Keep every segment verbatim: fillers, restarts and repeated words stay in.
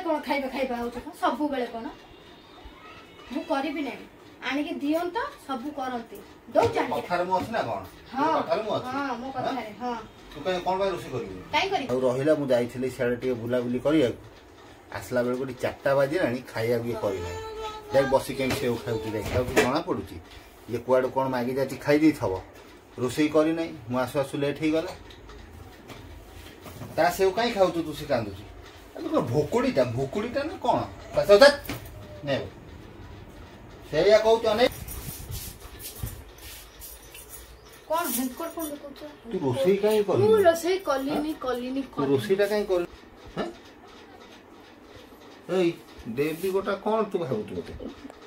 କଣ ଖାଇବା ଖାଇବା ହଉଛ ସବୁବେଳେ କଣ ମୁଁ କରିବି ନାହିଁ ଆଣିକି ଦିଅନ୍ତ ସବୁ କରନ୍ତି ଦଉଛ କଥାରେ ମୁଁ ଅଛି ନା କଣ କଥାରେ ମୁଁ ଅଛି ହଁ ମୋ କଥାରେ ହଁ ତୁ କାଇଁ କଣ ପାଇଁ ରୋଷେଇ କରିବୁ କାଇଁ କରିବି ଆଉ ରହିଲା ମୁଁ ଯାଇଥିଲି ସିଆଡ଼େ ଟିକେ ବୁଲାବୁଲି କରିବାକୁ ଆସିଲା ବେଳକୁ ଏଠି ଚାରିଟା ବାଜିଲାଣି ଖାଇବାକୁ ଇଏ କରିନାହିଁ ଯାଇ ବସି କେମିତି ସେଉ ଖାଉଛି ଦେଖିବାକୁ ଜଣା ପଡୁଛି ଇଏ କୁଆଡ଼ୁ କ'ଣ ମାଗି ଯାଉଛି ଖାଇ ଦେଇଥିବ ରୋଷେଇ କରିନାହିଁ ମୁଁ ଆସୁ ଆସୁ ଲେଟ୍ ହେଇଗଲା ତା ସେଉ କାହିଁ ଖାଉଛୁ ତୁ ସେ କାନ୍ଦୁଛି ଭୋକୁଡ଼ିଟା ଭୋକୁଡ଼ିଟା ନା କ'ଣ ନେ ସେଇଆ କହୁଛୁ ଅନେକ କଣ ଭେଙ୍କଟ କଣ କହୁଛ ତୁ ରୋଷେଇ କାହିଁ କରିନୁ ମୁଁ ରୋଷେଇ କଲିନି କଲିନି ତୁ ରୋଷେଇଟା କାହିଁ କରିନୁ ଏଇ ଦେବୀ ଗୋଟା କଣ ତୁ ଭାବୁଛୁ ମତେ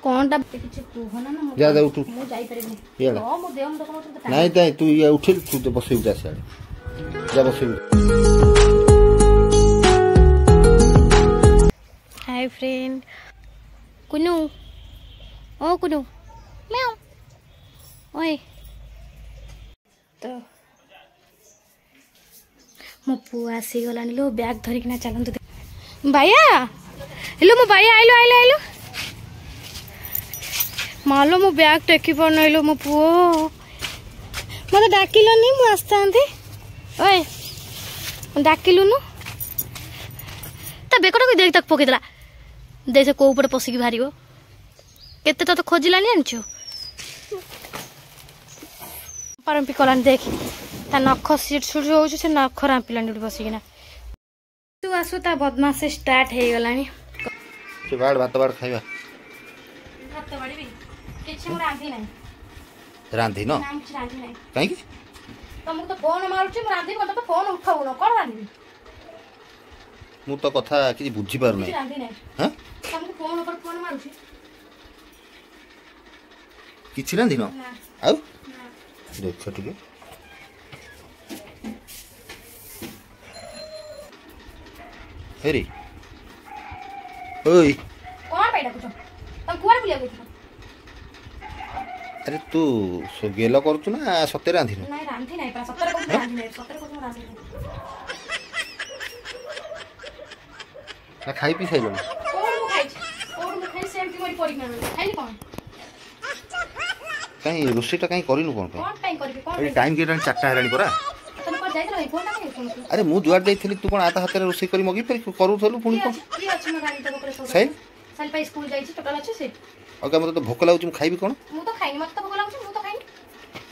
କଣଟା କିଛି କୁହ ନା ନା ଯା ଯା ଉଠୁ ମୁଁ ଯାଇପାରିବିନି ହଁ ମୋ ଦେହ ମୁଣ୍ଡ କଣ ନାଇଁ ନାଇଁ ତୁ ଇଏ ଉଠିଲୁ ତୁ ବସେଇବୁ ଯା ସିଆଡ଼େ ଯା ବସେଇବୁ ହାଇ ଫ୍ରେଣ୍ଡ କୁନୁ ଓ କୁନୁ ମ୍ୟାଉ ଓଏ ତ ମୋ ପୁଅ ଆସିଗଲାଣି ଲୋ ବ୍ୟାଗ୍ ଧରିକିନା ଚାଲନ୍ତୁ ଭାଇଆ ହେଲୋ ମୋ ଭାଇଆ ଆଇଲୁ ଆଇଲୁ ଆଇଲୁ ମାଲୋ ମୋ ବ୍ୟାଗ୍ ଟେକି ପାରୁନାଇଲୋ ମୋ ପୁଅ ମୋତେ ଡାକିଲନି ମୁଁ ଆସିଥାନ୍ତି ଓଏ ଡାକିଲୁନୁ ତା ବେକଟାକୁ ଦେଖ ତାକୁ ପକେଇଦେଲା ଦେଖ ସେ କୋଉ ପଟେ ପଶିକି ବାହାରିବ କେତେ ତତେ ଖୋଜିଲାନି ଜାଣିଛୁ ପାରମ୍ପି କଲାନି ଦେଖ ତା ନଖ ସିଟ୍ ସୁଟ୍ ହଉଛି ସେ ନଖ ରାମ୍ପିଲାନି ଏଠି ବସିକିନା ତୁ ଆସୁ ତା ବଦମାସି ଷ୍ଟାର୍ଟ ହେଇଗଲାଣି ସେ ବାଡ଼ ଭାତ ବାଡ଼ ଖାଇବା ଭାତ ବାଡ଼ିବି କିଛି ମୁଁ ରାନ୍ଧି ନାହିଁ ରାନ୍ଧିନ ନା କିଛି ରାନ୍ଧି ନାହିଁ କାହିଁକି ତମକୁ ତ ଫୋନ ମାରୁଛି ମୁଁ ରାନ୍ଧିବି ମତେ ତ ଫୋନ ଉଠାଉନ କଣ ରାନ୍ଧିବି ମୁଁ ତ କଥା କିଛି ବୁଝିପାରୁନାହିଁ କିଛି ରାନ୍ଧି ନାହିଁ ହଁ ତମକୁ ଫୋନ ଉପରେ ଫୋନ ମାରୁଛି କିଛି ରାନ୍ଧିନ ନା ଆଉ ନା ଦେଖ ଟିକେ ହେରି ଓଇ କଣ ପାଇଁ ଡାକୁଛ ତମେ କୁଆଡ଼େ ବୁଲିବାକୁ ଯାଇଥିଲ ଆରେ ତୁ ଗେଲ କରୁଛୁ ନା ସତରେ ରାନ୍ଧିନୁ ନାଇଁ ରାନ୍ଧି ନାହିଁ ପରା ସତରେ କହୁଛି ରାନ୍ଧି ନାହିଁ ସତରେ କହୁଛି ମୁଁ ରାନ୍ଧି ନାହିଁ ନା ଖାଇ ପିଇ ସାରିଲୁଣି କୋଉଠି ମୁଁ ଖାଇଛି କୋଉଠି ମୁଁ ଖାଇ ସେମିତି କରି ପଡ଼ିକିନା ରହିଲି ଖାଇଲି କଣ କାହିଁ ରୋଷେଇଟା କାହିଁ କରିନୁ କ'ଣ ପାଇଁ କଣ ପାଇଁ କରିବି କଣ ଏଠି ଟାଇମ୍ କେତେ ଚାରିଟା ହେଲାଣି ପରା ତମେ କୁଆଡ଼େ ଯାଇଥିଲ ଭାଇ ଫୋନଟା କାଇଁ ଉଠଉନଥିଲ ଆରେ ମୁଁ ଯୁଆଡ଼େ ଯାଇଥିଲି ତୁ କ'ଣ ଆ ତା ହାତରେ ରୋଷେଇ କରି ମଗେଇ ପାରି କରୁଥିଲୁ ପୁଣି କିଏ କ'ଣ ଅଛି କିଏ ଅଛି ମୋ ଗାଡ଼ି ଦେବ ପରେ ସାଇଲ ସାଇଲ ପାଇଁ ସ୍କୁଲ ଯାଇଛି ଟୋଟାଲ ଅଛି ସେ ଆଉ ମତେ ତ ଭୋକ ଲାଗୁଛି ମୁଁ ଖାଇବି କ'ଣ ମୁଁ ତ ଖାଇନି ମତେ ତ ଭୋକ ଲାଗୁଛି ମୁଁ ତ ଖାଇନି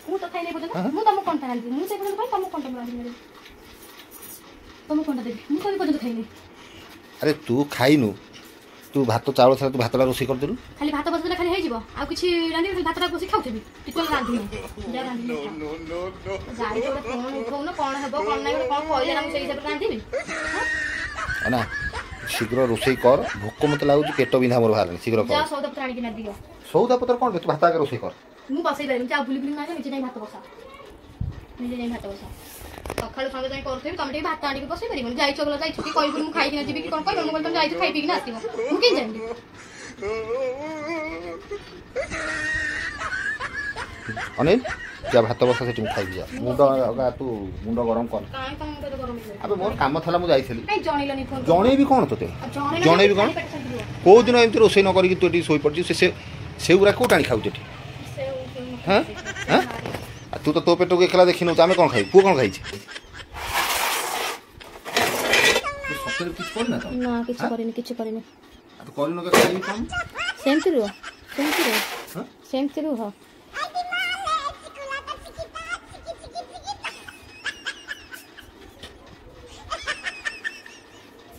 ମୁଁ ତ ଖାଇନି ଏପର୍ଯ୍ୟନ୍ତ ମୁଁ ତମକୁ କଣଟା ରାନ୍ଧିବି ମୁଁ ସେ ପର୍ଯ୍ୟନ୍ତ ଖାଇ ତମକୁ କଣଟା ରାନ୍ଧିବି ତମକୁ କଣଟା ଦେବି ମୁଁ ତ ଏ ପର୍ଯ୍ୟନ୍ତ ଖାଇନି ଆରେ ତୁ ଖାଇନୁ ତୁ ଭାତ ଚାଉଳ ଥିଲା ତୁ ଭାତଟା ରୋଷେଇ କରିଦେଲୁ ଖାଲି ଭାତ ବସେଇଦେଲେ ଖାଲି ହେଇଯିବ ଆଉ କିଛି ରାନ୍ଧିବି ଖାଲି ଭାତଟା ବସି ଖାଉଥିବି ଟିକେ ରାନ୍ଧିନି ଯା ରାନ୍ଧିନି ଯାଇଛ ଗୋଟେ ଫୋନ ଉଠଉନ କଣ ହେବ କଣ ନାହିଁ ଗୋଟେ କଣ କହିଲେ ନା ମୁଁ ସେଇ ହିସାବରେ ରାନ୍ଧିବି ନା ଶୀଘ୍ର ରୋଷେଇ କର ଭୋକ ମତେ ଲାଗୁଛି ପେଟ ବିନ୍ଧା ମୋର ବାହାରିଲାଣି ଶୀଘ୍ର କର ଯା ସଉଦା ପତ୍ର ଆଣିକିନା ଦିଅ ସଉଦା ପତ୍ର କ'ଣ ତୁ ଭାତ ଆଗେ ରୋଷେଇ କର ମୁଁ ବସେଇ ପାରିବିନି ଯା ବୁଲି ବୁଲି ନା ନିଜେ ଯାଇ ଭାତ ବସା ନିଜେ ଯାଇ ଭାତ ବସା ସକାଳୁ ସଞ୍ଜ ଯାଇ କରୁଥିବି ତମେ ଟିକେ ଭାତ ଆଣିକି ବସେଇ ପାରିବନି ଯାଇଛ ଗଲା ଯାଇଛ କି କହିବୁନି ମୁଁ ଖାଇକିନା ଯିବି କି କଣ କହିବ ମୁଁ କହିଲି ତମେ ଯାଇଛ ଖାଇ ପିଇକିନା ଆସିବ ମୁଁ କେମିତି ଜାଣିବି ଅନିଲ ଯା ଭାତ ବସା ସେଠି ମୁଁ ଖାଇବି ଯା ମୁଣ୍ଡ ଅଗା ତୁ ମୁଣ୍ଡ ଗରମ କର କାଇଁ ତମ ମୁଣ୍ଡ ଗରମ ହେଇଯିବ ଆବେ ମୋର କାମ ଥିଲା ମୁଁ ଯାଇଥିଲି କାଇଁ ଜଣେଇଲନି ଫୋନ ଜଣେଇବି କ'ଣ ତୋତେ ଜଣେଇଲନି ଜଣେଇବି କ'ଣ ଖାଲି ପେଟ ଶାନ୍ତି ରୁହ। କୋଉ ଦିନ ଏମିତି ରୋଷେଇ ନ କରିକି ତୁ ଏଠି ଶୋଇପଡ଼ିଛୁ ସେ ସେଉରା କୋଉଠି ଆଣି ଖାଉଛୁ ଏଠି ସେଉ ହଁ ହଁ ଆଉ ତୁ ତ ତୋ ପେଟକୁ ଏକଲା ଦେଖିନୁ ଆମେ କ'ଣ ଖାଇବୁ ପୁଅ କ'ଣ ଖାଇଛି ସତରେ କିଛି କରିନା ତ ନା କିଛି କରିନି କିଛି କରିନି ତୁ କରିନୁ ଖାଇବି କ'ଣ ସେମିତି ରୁହ ସେମିତି ରୁହ ହଁ ସେମିତି ରୁହ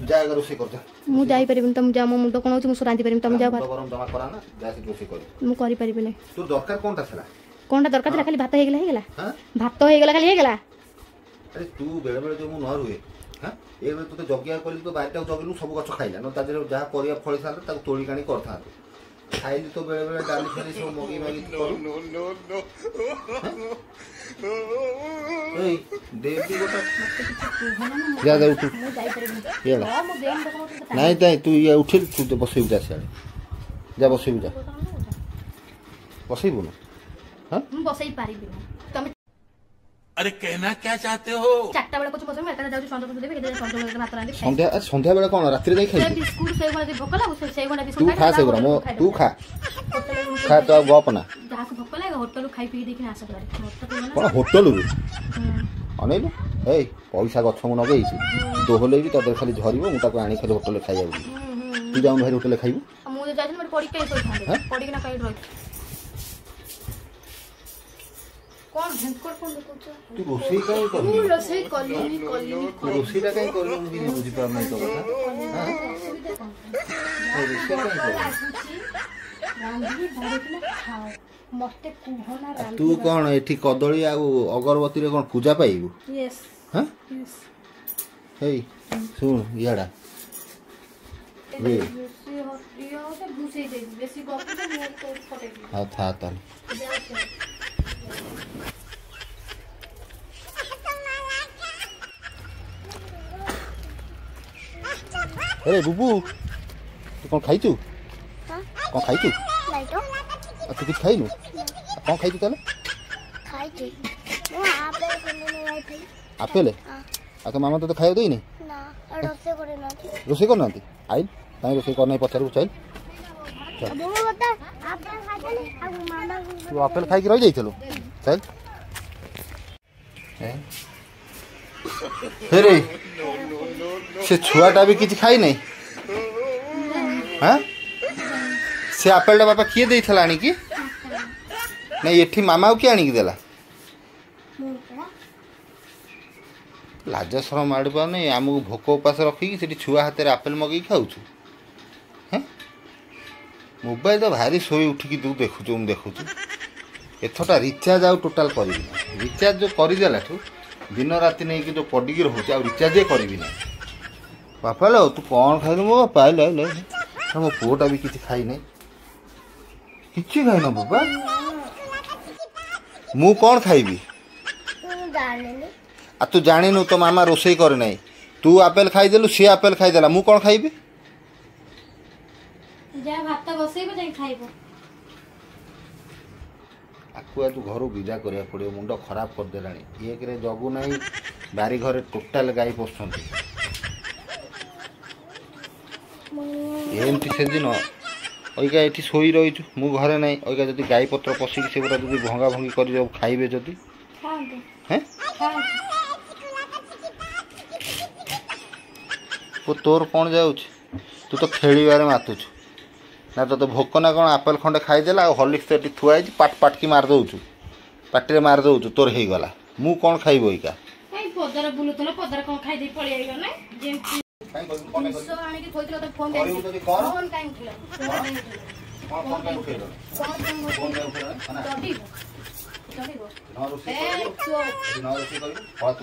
ଯା ଆଗ ରୋଷେଇ କର ଯା ମୁଁ ଯାଇପାରିବିନି ତମେ ଯାଅ ମୋ ମୁଣ୍ଡ କଣ ହଉଛି ମୁଁ ରାନ୍ଧି ପାରିବିନି ତମେ ଯାଅ ମୁଣ୍ଡ ଗରମ ଜମା କରା ନା ଯା ସେଠି ରୋଷେଇ କରିବୁ ମୁଁ କରିପାରିବିନି ତୋର ଦରକାର କ'ଣଟା ଥିଲା କଣଟା ଦରକାର ଥିଲା ଖାଲି ଭାତ ହେଇଗଲା ହେଇଗଲା ହଁ ଭାତ ହେଇଗଲା ଖାଲି ହେଇଗଲା ଆରେ ତୁ ବେଳେ ବେଳେ ଯୋଉ ମୁଁ ନ ରୁହେ ହଁ ଏବେ ତୋତେ ଜଗିବାକୁ କହିଲି ତୋ ବାରିଟାକୁ ଜଗିଲୁ ସବୁ ଗଛ ଖାଇଲା ନ ତା ଦେହରେ ଯାହା ପରିବା ଫଳିଥାନ୍ତା ତାକୁ ତୋଳିକି ଆଣି କରିଥାନ୍ତୁ ଖାଇଲି ତ ବେଳେ ବେଳେ ଡାଲି ଫାଲି ସବୁ ମଗେଇ ମାଗି କରୁ ଏଇ ଦେବୀ ଗୋଟା ଯା ଯା ଉଠୁ ମୁଁ ଯାଇପାରିବିନି ଇଆଡ଼େ ହଁ ମୋ ଦେହ ମୁଣ୍ଡ କଣ ହଉଛି ନାଇଁ ନାଇଁ ତୁ ଇଏ ଉଠିଲୁ ତୁ ବସେଇବୁ ଯା ସିଆଡ଼େ ଯା ବସେଇବୁ ଯା ବସେଇବୁ ନା ହଁ ମୁଁ ବସେଇ ପାରିବିନି ତମେ अरे कहना क्या चाहते हो? ଚାରିଟା ବେଳେ କହୁଛୁ ବସିବି, ମୁଁ ଏକାଥରେ ଯାଉଛି ସଞ୍ଜ ଫଞ୍ଜ ଦେବି, ଏକାଥରେ ସଞ୍ଜ ବେଳେ ଭାତ ରାନ୍ଧି ସନ୍ଧ୍ୟା ସନ୍ଧ୍ୟା ବେଳେ କଣ ରାତିରେ ଯାଇ ଖାଇବୁ? ବିସ୍କୁଟ ସେଇ ଗୁଣା ଭୋକ ଲାଗୁ, ସେଇ ଗୁଣା ତୁ ବିସ୍କୁଟ ଖା ସେଗୁଡ଼ା, ମୋ ତୁ ଖା ଖା, ତୁ ଆଉ ଗପ ନା। ଯାହାକୁ ଭୋକ ଲାଗେ ହୋଟେଲରୁ ଖାଇ ପିଇ ଦେଇକିନା ଆସ ଘରେ। କଣ ହୋଟେଲରୁ ଅନେଇଲୁ? ଏଇ ପଇସା ଗଛ ମୁଁ ଲଗେଇଛି, ଦୋହଲେଇବି ତା ଦେହରେ ଖାଲି ଝରିବ। ମୁଁ ତାକୁ ଆଣି ଖାଲି ହୋଟେଲରେ ଖାଇବାକୁ ଯିବି। ତୁ ଯାଉନୁ ଭାଇ ହୋଟେଲରେ ଖାଇବୁ। ମୁଁ ଯଦି ଯାଇଥିଲି ମୋତେ ପଡ଼ିକି କାହିଁ ଶୋଇଥାନ୍ତି, ପଡ଼ିକିନା କାହିଁ ରହିଛି। କଣ ଭେଙ୍କଟ ଫୋନ ଦେଖୁଛ? ତୁ ରୋଷେଇ କାହିଁ କରିନୁ? ମୁଁ ରୋଷେଇ କଲିନି କଲିନି। ତୁ ରୋଷେଇଟା କାହିଁ କରିନୁ? ମୁଁ କିଛି ବୁଝିପାରୁନାହିଁ ତୋ କଥା। ରୋଷେଇ କାହିଁ କରିନୁ? ରାନ୍ଧିକି ବାଢ଼ିକିନା ଖାଅ, ମତେ କୁହ ନା। ତୁ କଣ ଏଠି କଦଳୀ ଆଉ ଅଗରବତୀରେ କଣ ପୂଜା ପାଇବୁ? ହଁ, ହେଇ ଶୁଣ, ଇଆଡ଼ା ହଉ ଥା ତାହେଲେ। ଆରେ ବୁବୁ, ତୁ କଣ ଖାଇଛୁ? କଣ ଖାଇଛୁ? ଆଉ ତୁ କିଛି ଖାଇନୁ? କଣ ଖାଇଛୁ ତାହେଲେ? ଆପେଲ। ଆଉ ତୋ ମାମା ତୋତେ ଖାଇବାକୁ ଦେଇନି? ରୋଷେଇ କରିନାହାନ୍ତି? ଆଇଲ, କାହିଁ ରୋଷେଇ କରିନାହିଁ ପଚାରିବୁ, ଚାଇଲ। ତୁ ଆପେଲ ଖାଇକି ରହିଯାଇଥିଲୁ, ଚାଲ। ହେରେ ସେ ଛୁଆଟା ବି କିଛି ଖାଇନାହିଁ। ହଁ, ସେ ଆପେଲଟା ବାପା କିଏ ଦେଇଥିଲା ଆଣିକି? ନାଇଁ, ଏଠି ମାମାକୁ କିଏ ଆଣିକି ଦେଲା? ଲାଜ ସରମ ମାଡ଼ି ପାରୁନି। ଆମକୁ ଭୋକ ଉପାସ ରଖିକି ସେଠି ଛୁଆ ହାତରେ ଆପେଲ ମଗେଇକି ଖାଉଛୁ। ହେଁ, ମୋବାଇଲ ତ ଭାରି ଶୋଇ ଉଠିକି ତୁ ଦେଖୁଛୁ, ମୁଁ ଦେଖୁଛୁ। ଏଥରଟା ରିଚାର୍ଜ ଆଉ ଟୋଟାଲ କରିବି ନାହିଁ। ରିଚାର୍ଜ ଯେଉଁ କରିଦେଲାଠୁ ଦିନ ରାତି ନେଇକି ଯେଉଁ ପଡ଼ିକି ରହୁଛି, ଆଉ ରିଚାର୍ଜ କରିବି ନାହିଁ। ବାପା ଲୋ, ତୁ କ'ଣ ଖାଇଲୁ? ମୋ ବାପା ଆଇଲ ଆଇଲ, ମୋ ପୁଅଟା ବି କିଛି ଖାଇନାହିଁ। କିଛି ଖାଇନ ବାପା? ମୁଁ କ'ଣ ଖାଇବି? ଆଉ ତୁ ଜାଣିନୁ, ତୋ ମାମା ରୋଷେଇ କରେ ନାହିଁ। ତୁ ଆପେଲ ଖାଇଦେଲୁ, ସିଏ ଆପେଲ ଖାଇଦେଲା, ମୁଁ କ'ଣ ଖାଇବି? ଭାତ ବସେଇବ ଯାଇ ଖାଇବ। ଆକୁ ଆଜି ଘରୁ ବିଦା କରିବାକୁ ପଡ଼ିବ, ମୁଣ୍ଡ ଖରାପ କରିଦେଲାଣି। ଏକରେ ଜଗୁ ନାହିଁ, ବାରି ଘରେ ଟୋଟାଲ ଗାଈ ପଶୁଛନ୍ତି। ଏମିତି ସେଦିନ ଅଇକା ଏଠି ଶୋଇ ରହିଛୁ, ମୁଁ ଘରେ ନାହିଁ। ଅଇକା ଯଦି ଗାଈ ପତ୍ର ପଶିକି ସେଗୁଡ଼ା ଯଦି ଭଙ୍ଗା ଭଙ୍ଗି କରି ଖାଇବେ ଯଦି, ହେଁ ତୋର କ'ଣ ଯାଉଛି? ତୁ ତ ଖେଳିବାରେ ମାତୁଛୁ ନା, ତୋତେ ଭୋକ ନା କ'ଣ? ଆପେଲ ଖଣ୍ଡେ ଖାଇଦେଲା, ଆଉ ହର୍ଲିକ୍ସ ତ ଏଠି ଥୁଆ ହେଇଛି, ପାଟ ପାଟକି ମାରି ଦେଉଛୁ, ପାଟିରେ ମାରି ଦେଉଛୁ, ତୋର ହେଇଗଲା। ମୁଁ କ'ଣ ଖାଇବ ଅଇକା? ପଦାରେ ବୁଲୁଥିଲ, ପଦାରେ କ'ଣ ଖାଇଦେଇ ପଳେଇ ଆଇଲ ନା? ଯେମିତି ଆଣିକି ଥୋଇଥିଲ, ଫୋନ ଫୋନ କାହିଁ ଉଠେଇଲ?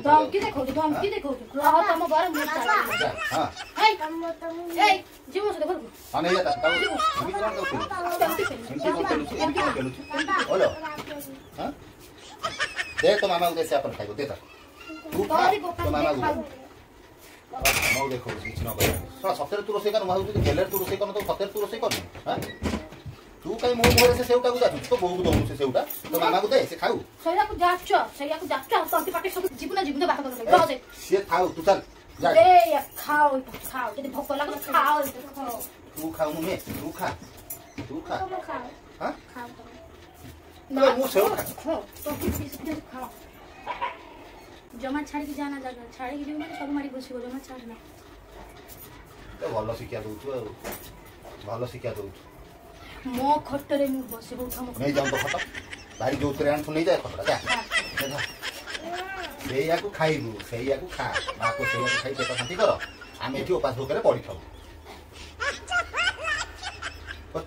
ଧମକି ଦେଖଉଛୁ, ଧମକି ଦେଖଉଛୁ। ରହ ତମ ଘରେ, ମୁଁ ଯିବୁ ସହିତ ଘରକୁ। ଦେ ତୋ ମାମାକୁ ଦେ, ସେ ଆପଲ ଖାଇବ, ଦେ ତାକୁ। ତୁ ଖା, ତୋ ମାମାକୁ ଦେ। ମାମାକୁ ଦେଖଉଛି କିଛି ନ କହିବ। ସତରେ ତୁ ରୋଷେଇ କର? ମୁଁ ଭାବୁଛି ଗେଲେରେ ତୁ ରୋଷେଇ କରନ, ତ ସତରେ ତୁ ରୋଷେଇ କରୁନୁ? ହଁ, ତୁ କାଇଁ ମୋ ମୁହଁରେ ସେ ସେଉଟାକୁ ଯାଚୁଛୁ? ତୋ ବୋଉକୁ ଦଉନୁ ସେ ସେଉଟା, ତୋ ମାମାକୁ ଦେ, ସେ ଖାଉ। ସେଇଆକୁ ଯାଚ, ସେଇଆକୁ ଯାଚ, ତଣ୍ଟି ପାଟି ସବୁ। ଯିବୁ ନା ଯିବୁ? ଭାତ କରିଦେଲେ ସିଏ ଥାଉ, ତୁ ଚାଲ। ଖାଅ ଖାଅ, ଯଦି ଭୋକ ଲାଗୁଛି ଖାଅ। ତୁ ଖାଉନୁ, ନେ ତୁ ଖା, ତୁ ଖା। ମୁଁ ସେଉ ଖା। ଜମା ଛାଡ଼ିକି ଯାନା, ଜାଗା ଛାଡ଼ିକି ଯିବୁ ମାନେ ସବୁ ମାଡ଼ି ବସିବ। ଜମା ଛାଡ଼ ନା। ଭଲ ଶିକ୍ଷା ଦଉଛୁ, ଆଉ ଭଲ ଶିକ୍ଷା ଦଉଛୁ। ମୋ ଖଟରେ ମୁଁ ବସିବ? ଉଠ। ନେଇଯାଉ ତ ଖଟ, ଭାରି ଯୋଉଥିରେ ଆଣିଛୁ ନେଇଯାଏ ଖଟଟା, ଯା। ସେଇଆକୁ ଖାଇବୁ, ସେଇଆକୁ ଖା, ମାକୁ ସେଇଆକୁ ଖାଇ ପେଟ ଶାନ୍ତି କର। ଆମେ ଏଠି ଉପାସ ଭୋକରେ ପଡ଼ିଥାଉ।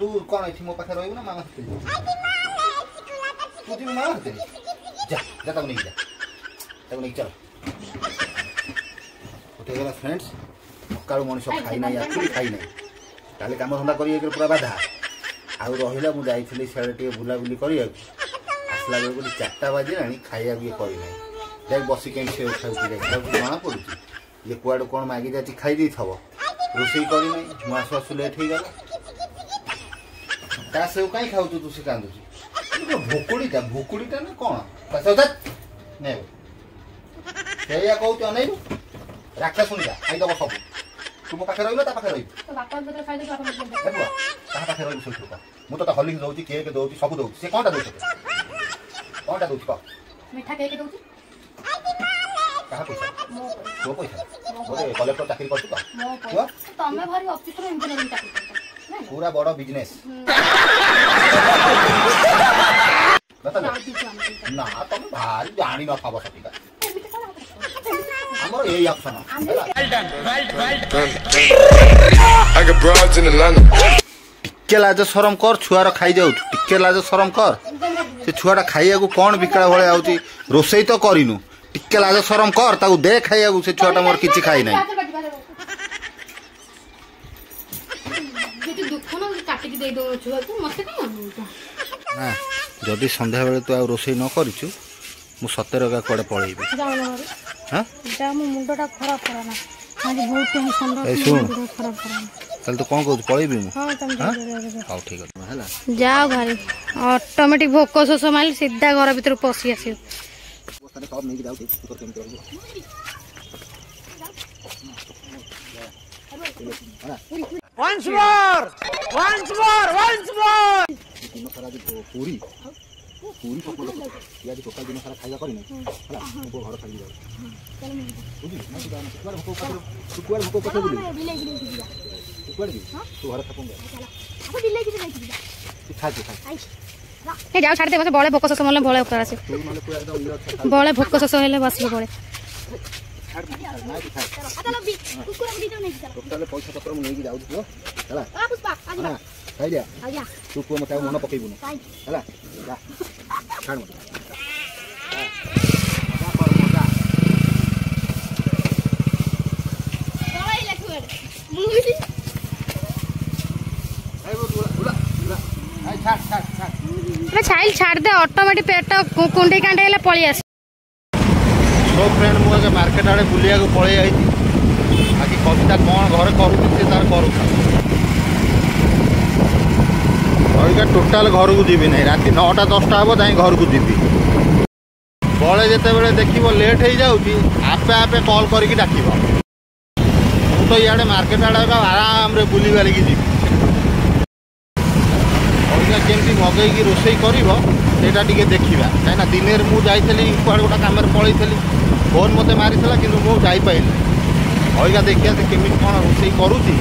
ତୁ କ'ଣ ଏଠି ମୋ ପାଖରେ ରହିବୁ ନା ମାମା ସାଥିରେ ଯିବୁ? ତୁ ଯିବୁ ମାମା ସାଥିରେ? ଯା ଯା, ତାକୁ ନେଇକି ଯା, ତାକୁ ନେଇକି ଚାଲ। ଉଠେଇଗଲା ଫ୍ରେଣ୍ଡସ୍। ସକାଳୁ ମଣିଷ ଖାଇନାହିଁ, ଆକ୍ଚୁଆଲି ଖାଇନାହିଁ। କାଲି କାମଧନ୍ଦା କରି ପୁରା ବାଧା। ଆଉ ରହିଲା, ମୁଁ ଯାଇଥିଲି ସିଆଡ଼େ ଟିକେ ବୁଲାବୁଲି କରିବାକୁ, ଆସିଲା ବେଳକୁ ଚାରିଟା ବାଜିଲାଣି, ଖାଇବାକୁ ଇଏ କରିନାହିଁ। ଦେଖ ବସି କେମିତି ସେଉ ଖାଉଛି, ଦେଖ ତାକୁ ଜଣା ପଡ଼ୁଛି। ଇଏ କୁଆଡ଼ୁ କ'ଣ ମାଗି ଯାଚି ଖାଇ ଦେଇଥିବ, ରୋଷେଇ କରିନାହିଁ। ମୁଁ ଆସୁ ଆସୁ ଲେଟ୍ ହେଇଗଲା। ତା ସେଉ କାହିଁ ଖାଉଛୁ ତୁ? ସେ କାନ୍ଦୁଛି। ଭୁକୁଡ଼ିଟା ଭୁକୁଡ଼ିଟା ନା କ'ଣ? ନେ। ସେଇଆ କହୁଛୁ ଅନେଇଲୁ ରାକ୍ଷସୁଣିଟା ଖାଇଦବ ସବୁ ତୁ ମୋ ପାଖରେ ରହିବ ତା ପାଖରେ ରହିବୁ କାହା ପାଖରେ ରହିବୁ ସେଇଠୁ କହ ମୁଁ ତୋତେ ହଲିକ୍ସ ଦଉଛି କେକ୍ ଦଉଛି ସବୁ ଦଉଛି ସେ କ'ଣଟା ଦଉଛି କ'ଣଟା ଦଉଛି କହ ମିଠା କେକ୍ ଦଉଛି କାହା ପଇସା ତୋ ପଇସା ଗୋଟେ କଲେକ୍ଟର ଚାକିରି କରୁଛୁ ତ ତମେ ଭାରି ଅଫିସର ଇଞ୍ଜିନିୟରିଂ ଚାକିରି କରୁଛ ପୁରା ବଡ଼ ବିଜନେସ୍ ନା ତମେ ଭାରି ଜାଣି ନଥିବ ସତିକା ଆମର ଏଇ ଅପସନ ଟିକେ ଲାଜ ସରମ କର ଛୁଆର ଖାଇଯାଉଛୁ ଟିକେ ଲାଜ ସରମ କର ସେ ଛୁଆଟା ଖାଇବାକୁ କ'ଣ ବିକଳା ଭଳିଆ ହଉଛି ରୋଷେଇ ତ କରିନୁ ଟିକେ ଲାଜ ସରମ କର ତାକୁ ଦେ ଖାଇବାକୁ ସେ ଛୁଆଟା ମୋର କିଛି ଖାଇ ନାହିଁ ନା ଯଦି ସନ୍ଧ୍ୟାବେଳେ ତୁ ଆଉ ରୋଷେଇ ନ କରିଛୁ ମୁଁ ସତରେ ଏକା କୁଆଡ଼େ ପଳେଇବି ମୁଣ୍ଡଟା ଖରାପ କରନା ଆଜି ବହୁତ ଟେନସନ୍ ଖରାପ କରନା ତାହେଲେ ତୁ କ'ଣ କହୁଛୁ ପଳେଇବି ମୁଁ ହଉ ଠିକ ଅଛି ହେଲା ଯାଅ ଘରେ ଅଟୋମେଟିକ ଭୋକ ଶୋଷ ମାରିଲେ ସିଧା ଘର ଭିତରକୁ ପଶି ଆସିବ ସବୁ ନେଇକି ଯାଉଛି ତୁ କେମିତି ରହିବୁ Once more! Once more! Once more! ଦିନ ସାରା ଆଜି ପୁରୀ ପୁରୀ ପକୋଡ଼ା ଆଜି ଟୋଟାଲ ଦିନ ସାରା ଖାଇବା କରିନି ହେଲା ମୁଁ ପୁଅ ଘର ଛାଡ଼ିକି ଯାଉଛି ବୁଝିଲୁ ନା ତୁ ଯାଉନା କୁଆଡ଼େ ଭୋକ ଉପାସରେ ତୁ କୁଆଡ଼େ ଭୋକ ଉପାସରେ ବୁଲିବୁ ତୁ କୁଆଡ଼େ ଯିବୁ ତୁ ଘରେ ଥାକୁ ତୁ ଖା ତୁ ଖା ଏ ଯାଉ ଛାଡ଼ିଦେ ବସେ ବଳେ ଭୋକ ଶୋଷ ମଲେ ବଳେ ଉପରେ ଆସେ ତୁ ନହେଲେ ପୁରା ଏକଦମ ଇଏ ଅଛି ବଳେ ଭୋକ ଶୋଷ ହେଲେ ବସିବ ବଳେ ଟୋଟାଲ ପଇସା ପତ୍ର ମୁଁ ନେଇକି ଯାଉଛି ପୁଅ ହେଲା ନା ଖାଇଲିଆ ତୁ ପୁଅ ମତେ ଆଉ ମନ ପକେଇବୁନୁ ହେଲା ଯା ଛାଡ଼ ମତେ ମଜା କର ମଜା ଛାଇଲ ଛାଡ଼ିଦେ ଅଟୋମେଟିକ ପେଟ କୁଣ୍ଡେଇ କାଣ୍ଡେଇ ହେଲେ ପଳେଇ ଆସ ସୋ ଫ୍ରେଣ୍ଡ ମୁଁ ଏବେ ମାର୍କେଟ ଆଡ଼େ ବୁଲିବାକୁ ପଳେଇ ଆଇଛି ବାକି କବିତା କ'ଣ ଘରେ କରୁଛି ସେ ତାର କରୁଥା ଅବିକା ଟୋଟାଲ ଘରକୁ ଯିବି ନାହିଁ ରାତି ନଅଟା ଦଶଟା ହେବ ଯାଇ ଘରକୁ ଯିବି ବଳେ ଯେତେବେଳେ ଦେଖିବ ଲେଟ୍ ହେଇଯାଉଛି ଆପେ ଆପେ କଲ୍ କରିକି ଡାକିବ ମୁଁ ତ ଇଆଡ଼େ ମାର୍କେଟ ଆଡ଼େ ଏବେ ଆରାମରେ ବୁଲି ବାଲିକି ଯିବି ଅବିକା କେମିତି ମଗେଇକି ରୋଷେଇ କରିବ ସେଇଟା ଟିକେ ଦେଖିବା କାହିଁକିନା ଦିନରେ ମୁଁ ଯାଇଥିଲି କୁଆଡ଼େ ଗୋଟେ କାମରେ ପଳେଇଥିଲି ଫୋନ୍ ମୋତେ ମାରିଥିଲା କିନ୍ତୁ ମୁଁ ଯାଇପାରିଲିନି ଅବିକା ଦେଖିବା ସେ କେମିତି କ'ଣ ରୋଷେଇ କରୁଛି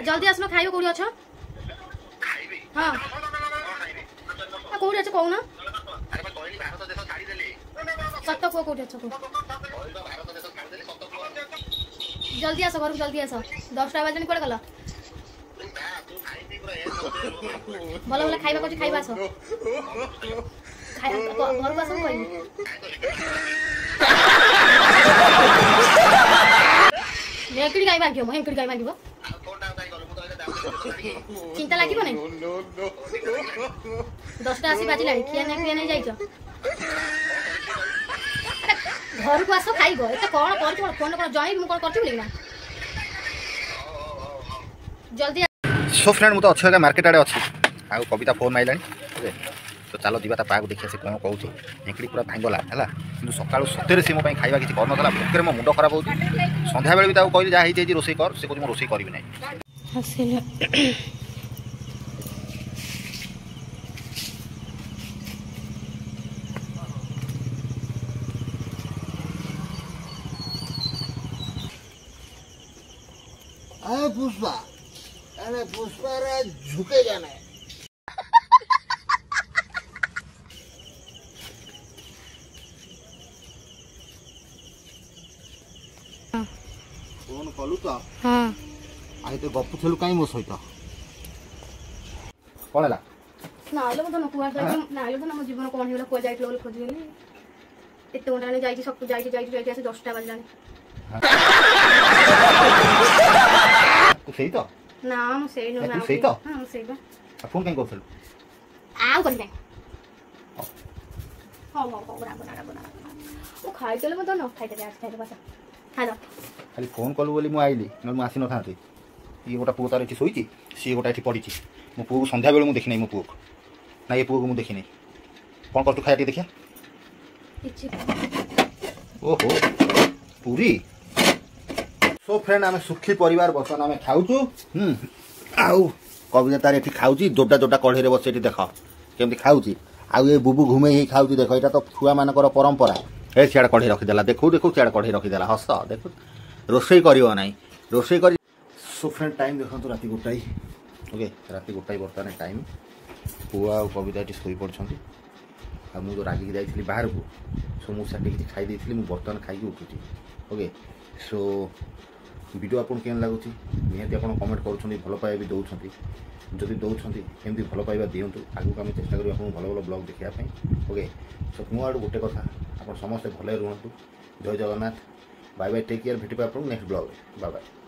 ଜଲ୍ଦି ଆସୁନ ଖାଇବ କୋଉଠି ଅଛ ହଁ କୋଉଠି ଅଛ କହୁନ ସତ କୁହ କୋଉଠି ଅଛ କୁହ ଜଲ୍ଦି ଆସ ଘରକୁ ଜଲ୍ଦି ଆସ ଦଶଟା ବାଜିଲାଣି କୁଆଡ଼େ ଗଲ ଭଲ ଭଲ ଖାଇବା କରୁଛି ଖାଇବା ଆସ ଘରକୁ ଆସ ମୁଁ କହିବି ହେଙ୍କିଡ଼ି ଗାଈ ଭାଙ୍ଗିବ ମୋ ହେଙ୍କିଡ଼ି ଗାଈ ଭାଙ୍ଗିବ ଚିନ୍ତା ଲାଗିବ ନାଇଁ ଦଶଟା ଆସି ବାଜିଲାଣି ଖିଆ ନାଇଁ ପିଆ ନାଇଁ ଯାଇଛ ଘରକୁ ଆସ ଖାଇବ ଏତେ କ'ଣ କରୁଛୁ କ'ଣ ଫୋନ୍ କ'ଣ ଜଣେଇବି ମୁଁ କ'ଣ କରୁଛି ବୋଲି ନା ଜଲ୍ଦି ସୋ ଫ୍ରେଣ୍ଡ ମୁଁ ତ ଅଛି ଆଜ୍ଞା ମାର୍କେଟ ଆଡ଼େ ଅଛି ଆଉ କବିତା ଫୋନ୍ ମାରିଲାଣି ଓକେ ତ ଚାଲ ଯିବା ତା ପାଖକୁ ଦେଖିବା ସେ କ'ଣ କହୁଛି ହେଙ୍କିଡ଼ି ପୁରା ଭାଙ୍ଗଲା ହେଲା କିନ୍ତୁ ସକାଳୁ ସତରେ ସେ ମୋ ପାଇଁ ଖାଇବା କିଛି କରିନଥିଲା ଭୋକରେ ମୋ ମୁଣ୍ଡ ଖରାପ ହେଉଛି ସନ୍ଧ୍ୟାବେଳେ ବି ତାକୁ କହିଲି ଯାହା ହେଇଛି ହେଇଛି ରୋଷେଇ କର ସେ କହୁଛି ମୁଁ ରୋଷେଇ କରିବି ନାହିଁ ଆସିଲା अरे पुष्पा अरे पुष्पा रे झुकेगा नहीं ଫୋନ୍ କଲୁ ତ ହଁ ଆଉ ଏତେ ଗପୁଥିଲୁ କାହିଁ ମୋ ସହିତ କ'ଣ ହେଲା ନାଇଁଲୋ ମୁଁ ଧନ କୁଆଡ଼େ ଯାଇଥିଲି ନାଇଁଲୋ ଧନ ମୋ ଜୀବନ କ'ଣ ହେଇଗଲା କୁଆଡ଼େ ଯାଇଥିଲ ବୋଲି ଖୋଜିଗଲି ଏତେ ଘଣ୍ଟା ହେଲାଣି ଯାଇଛି ସବୁ ଯାଇଛି ଯାଇଛି ଯାଇଛି ଆସି ଦଶଟା ବାଜିଲାଣି ତୁ ସେଇ ତ ନା ମୁଁ ସେଇ ନୁହେଁ ତୁ ସେଇ ତ ହଁ ମୁଁ ସେଇ ବା ଫୋନ୍ କାହିଁ କରୁଥିଲୁ ଆଉ କରିବି ନାହିଁ ହଉ ହଉ ହଉ ରାଗ ନା ରାଗ ନା ମୁଁ ଖାଇଦେଲେ ମୁଁ ତ ନ ଖାଇଦେବି ଆଜି ଖାଇଦେବ ଆସ ଖାଇଦ ଖାଲି ଫୋନ୍ କଲୁ ବୋଲି ମୁଁ ଆଇଲି ନହେଲେ ମୁଁ ଆସିନଥାନ୍ତି ଇଏ ଗୋଟେ ପୁଅ ତାର ଏଠି ଶୋଇଛି ସିଏ ଗୋଟେ ଏଠି ପଡ଼ିଛି ମୋ ପୁଅକୁ ସନ୍ଧ୍ୟାବେଳୁ ମୁଁ ଦେଖିନାହିଁ ମୋ ପୁଅକୁ ନା ଏ ପୁଅକୁ ମୁଁ ଦେଖିନାହିଁ କ'ଣ କରୁଛୁ ଖାଇବା ଟିକେ ଦେଖିବା କିଛି ଓହୋ ପୁରୀ। ସୋ ଫ୍ରେଣ୍ଡ, ଆମେ ସୁଖୀ ପରିବାର। ବର୍ତ୍ତମାନ ଆମେ ଖାଉଛୁ। ହୁଁ ଆଉ କବିତା ତାର ଏଠି ଖାଉଛି, ଦୋଟା ଦୋଟା କଢ଼େଇରେ ବସି। ଏଠି ଦେଖ କେମିତି ଖାଉଛି। ଆଉ ଏ ବୁବୁ ଘୁମେଇ ହେଇ ଖାଉଛି ଦେଖ। ଏଇଟା ତ ଛୁଆମାନଙ୍କର ପରମ୍ପରା। ଏ ସିଆଡ଼େ କଢ଼େଇ ରଖିଦେଲା, ଦେଖୁ ଦେଖୁ ସିଆଡ଼େ କଢ଼େଇ ରଖିଦେଲା। ହସ ଦେଖୁ, ରୋଷେଇ କରିବ ନାହିଁ, ରୋଷେଇ କରି। ସୋ ଫ୍ରେଣ୍ଡ, ଟାଇମ୍ ଦେଖନ୍ତୁ, ରାତି ଗୋଟାଏ। ଓକେ, ରାତି ଗୋଟାଏ ବର୍ତ୍ତମାନ ଟାଇମ୍। ପୁଅ ଆଉ କବିତା ଏଠି ଶୋଇପଡ଼ିଛନ୍ତି। ଆଉ ମୁଁ ଯେଉଁ ରାଗିକି ଯାଇଥିଲି ବାହାରକୁ, ସୋ ମୁଁ ସେଠି କିଛି ଖାଇ ଦେଇଥିଲି। ମୁଁ ବର୍ତ୍ତମାନ ଖାଇକି ଉଠୁଛି। ଓକେ, ସୋ ଭିଡ଼ିଓ ଆପଣଙ୍କୁ କେମିତି ଲାଗୁଛି, ନିହାତି ଆପଣ କମେଣ୍ଟ କରୁଛନ୍ତି, ଭଲ ପାଇବା ବି ଦେଉଛନ୍ତି। ଯଦି ଦେଉଛନ୍ତି, ଏମିତି ଭଲ ପାଇବା ଦିଅନ୍ତୁ। ଆଗକୁ ଆମେ ଚେଷ୍ଟା କରିବୁ ଆପଣଙ୍କୁ ଭଲ ଭଲ ବ୍ଲଗ୍ ଦେଖିବା ପାଇଁ। ଓକେ, ସୋ ମୋ ଆଡ଼ୁ ଗୋଟେ କଥା, ଆପଣ ସମସ୍ତେ ଭଲରେ ରୁହନ୍ତୁ। ଜୟ Jagannath. Bye bye, take care. ଭେଟିବା ଆପଣଙ୍କୁ ନେକ୍ସଟ ବ୍ଲଗ୍ରେ। Bye bye.